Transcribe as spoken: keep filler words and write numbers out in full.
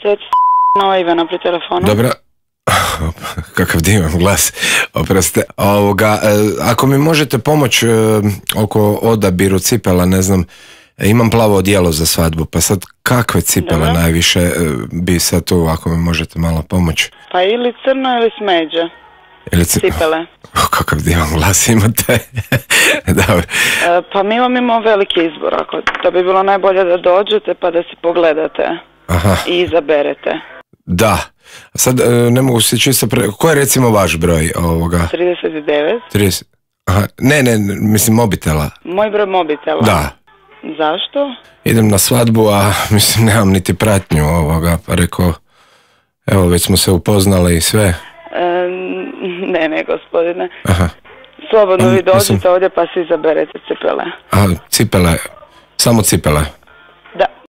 Izvolite, nova Ivana pri telefonu. Dobro. Kakav divan glas. Oproste. Ovoga, ako mi možete pomoći oko odabiru cipela, ne znam, imam plavo odijelo za svadbu, pa sad kakve cipele Dobro. najviše bi sad tu, ako mi možete malo pomoći? Pa ili crno ili smeđe. Ili c... Cipele. Kakav divan glas imate. Dobro. E, pa mi vam imamo veliki izbor, ako to bi bilo najbolje da dođete pa da si pogledate. Aha. I izaberete. Da. Sad ne mogu se čisto pre... Ko je recimo vaš broj ovoga? trideset devet. trideset. Aha. Ne, ne, mislim mobitela. Moj broj mobitela. Da. Zašto? Idem na svadbu, a mislim nemam niti pratnju ovoga, pa rekao, evo već smo se upoznali i sve. E, ne, ne, gospodine. Aha. Slobodno A, vi dođete mislim... ovdje pa si izaberete cipele. A, cipele, samo cipele. Da.